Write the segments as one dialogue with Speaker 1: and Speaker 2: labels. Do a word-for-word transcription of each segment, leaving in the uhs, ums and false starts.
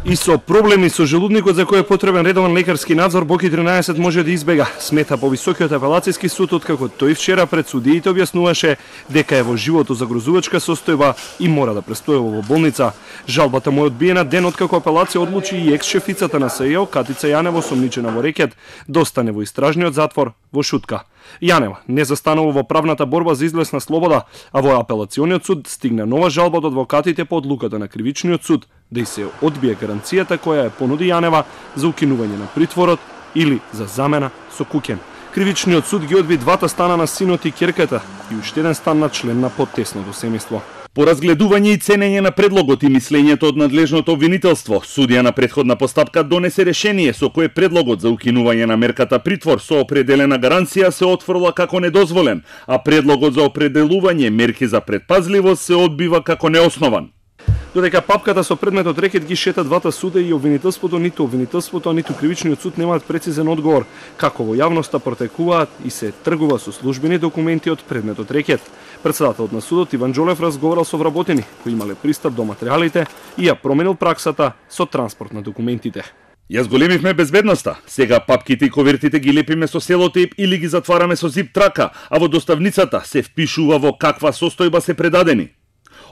Speaker 1: И со проблеми со желудникот за кој е потребен редовен лекарски надзор, Боки тринаесет може да избега, смета повисокиот апелацијски суд, откако тој вчера пред судиите објаснуваше дека е во живото загрозувачка состојба и мора да престојува во болница. Жалбата му е одбиена ден откако апелација одлучи и екс-шефицата на СЈО, Катица Јанева, осомничена во рекет, да остане во истражниот затвор во Шутка. Јанева не застанува во правната борба за излез на слобода, а во апелациониот суд стигна нова жалба од адвокатите по одлуката на кривичниот суд да и се одбие гаранцијата која ја понуди Јанева за укинување на притворот или за замена со куќен. Кривичниот суд ги одби двата стана на синот и ќерката и уште еден стан на член на поттесното семејство.
Speaker 2: По разгледување и ценење на предлогот и мислењето од надлежното обвинителство, судија на претходна постапка донесе решение со кое предлогот за укинување на мерката притвор со определена гаранција се отфрла како недозволен, а предлогот за определување мерки за предпазливост се одбива како неоснован.
Speaker 1: Додека папката со предметот рекет ги шета двата суда и обвинителството, ниту обвинителството, ниту кривичниот суд немаат прецизен одговор како во јавноста протекуваат и се тргува со службени документи од предметот рекет. Председателот на судот Иван Џолев разговарал со вработени кои имале пристап до материјалите и ја променил праксата со транспорт на документите.
Speaker 2: Ја зголемивме безбедноста. Сега папките и ковертите ги лепиме со селотейп или ги затвараме со зип трака, а во доставницата се впишува во каква состојба се предадени.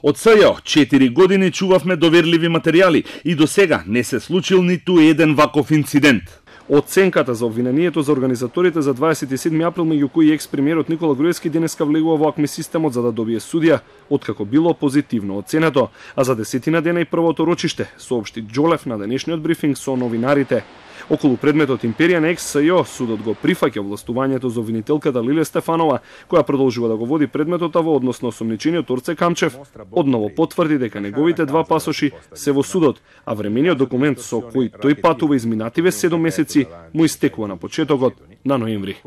Speaker 2: Од СЈО четири години чувавме доверливи материјали и до сега не се случил ниту еден ваков инцидент.
Speaker 1: Оценката за обвинението за организаторите за дваесет и седми април, меѓу кои екс-премиерот Никола Груевски, денеска влегува во АКМИ системот за да добие судија, откако било позитивно оценето, а за десетина дена и првото рочиште, соопшти Џолев на денешниот брифинг со новинарите. Околу предметот империја на екс-СЈО, судот го прифаќа властувањето за обвинителката Лилија Стефанова, која продолжува да го води предметот, а во однос на осомничениот Орце Камчев, одново потврди дека неговите два пасоши се во судот, а времениот документ со кој тој патува изминативе седум месеци му истекува на почетокот на ноември.